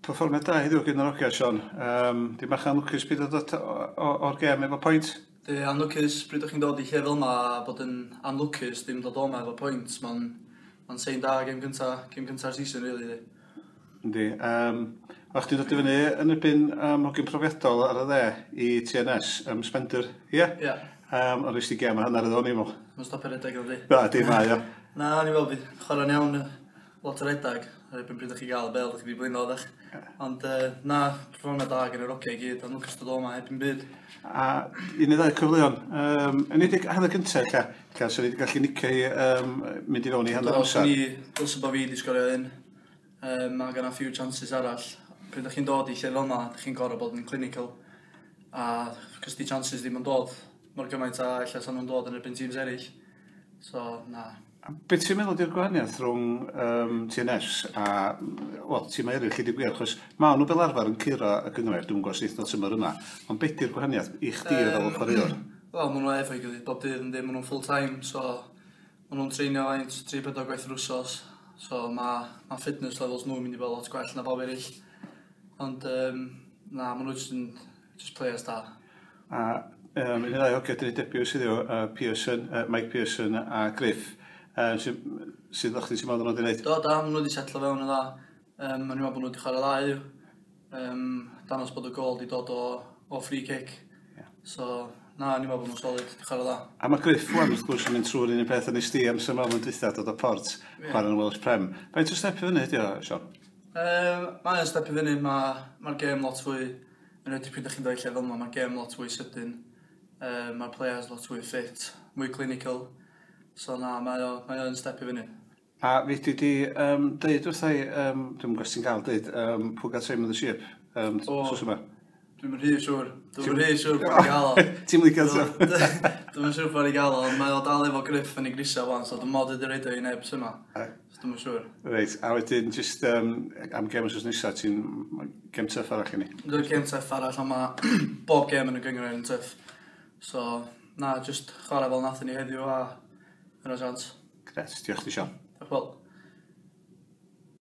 Perfformiad da heddiw gan yr hogia, Sion. Dim bach anlwcus byd o dod o'r gêm efo pwynt? Di, anlwcus pryd o'ch chi'n dod i lle fel yma a bod yn anlwcus ddim dod o'ma efo pwynt. Mae'n ma sein da gêm gynta, gêm gynta'r season, really. Di. Yndi. O'ch chdi'n dod i fyny yn erbyn hogyn profiadol ar y dde i TNS, Spender, ie? Yeah? Ie. Yeah. Ond nes ti gêm a hanner iddo, o'n i'n meddwl. Mae'n stopio redag o di. Na, di mae o. Na, o'n i'n meddwl bydd chwarae'n iawn lot o redag. Ar erbyn pryd o'ch chi gael y bel, o'ch chi wedi blino, ddech. Ond na, perfformiad da gan yr hogia i gyd, ond lwcus dod o'ma heb yn byd. A un neu ddau cyfleon. Yn enwedig hanner cyntaf, ella, so ni wedi gallu nicio i mynd i fewn i hanner amser. Ni, dylse bod fi wedi sgorio un. Mae gan a few chances arall. Pryd ydych chi'n dod i lle fel yma, ydych chi'n gorfod bod yn clinical. A cos di chances ddim yn dod mor gymaint a ella sa'n nhw'n dod yn erbyn teams eraill. So, na. A be ti'n meddwl di'r gwahaniaeth rhwng TNS a, wel, tîmau eraill i ddeud gwir, achos ma' nhw fel arfer yn curo y gynghrair, dwi'm yn gwybod sut tymor yma, ond be di'r gwahaniaeth i chdi fel chwaraewr? Wel, maen nhw efo'i gilydd bob dydd yn maen nhw'n full time, so maen nhw'n treinio faint, 3-4 gwaith yr wsos, so mae ma fitness levels nhw'n mynd i bod lot gwell na bob eraill. Ond, na, maen nhw just yn just players da. A un neu ddau hogia 'di neud debut heddiw, Pearson, Mike Pearson a Griff, sydd sydd o'ch ti'n meddwl nhw wedi gwneud? Do, da, maen nhw wedi setlo fewn yn dda. Maen nhw'n meddwl bod nhw wedi chwarae dda heddiw. Danos bod y gol wedi dod o free kick. So, na, ni'n meddwl bod nhw'n solid, wedi chwarae dda. A mae Griff wan, wrth gwrs, yn mynd trwy'r un peth yn nes di amser mewn yn dwytha, dod o Port, chwarae yn y Welsh Prem. Faint o step i fyny ydi o, Sion? Mae o'n step i fyny, mae'r ma gêm lot fwy, yn enwedig pryd ydych chi'n dod i lle fel yma, mae'r gêm lot fwy sydyn. Mae'r players lot fwy fit, mwy clinical. So na, mae o'n step i fyny. A fi di deud wrtha i, dwi'm yn gwybod os ti'n gael deud, pwy gael time of the sheep, wsos yma? Dwi'm yn rhy siŵr. Dwi'm yn rhy siŵr bod i gael o. Ti'n licio to? Dwi'm yn siŵr bod i gael o, ond mae o dal efo Griff yn ei grisa wan, so dwi'n mod wedi roid o i neb syma. So dwi'm yn siŵr. Reit, a wedyn, just am gêm wsos nesaf, ti'n gêm tough arall i ni. Dwi'n gêm tough arall, ond mae bob gêm yn y gynghrair yn tough. So, na, just chwarae fel nathon ni heddiw a yna chance. Gret, diolch ti, Sion. Diolch wel.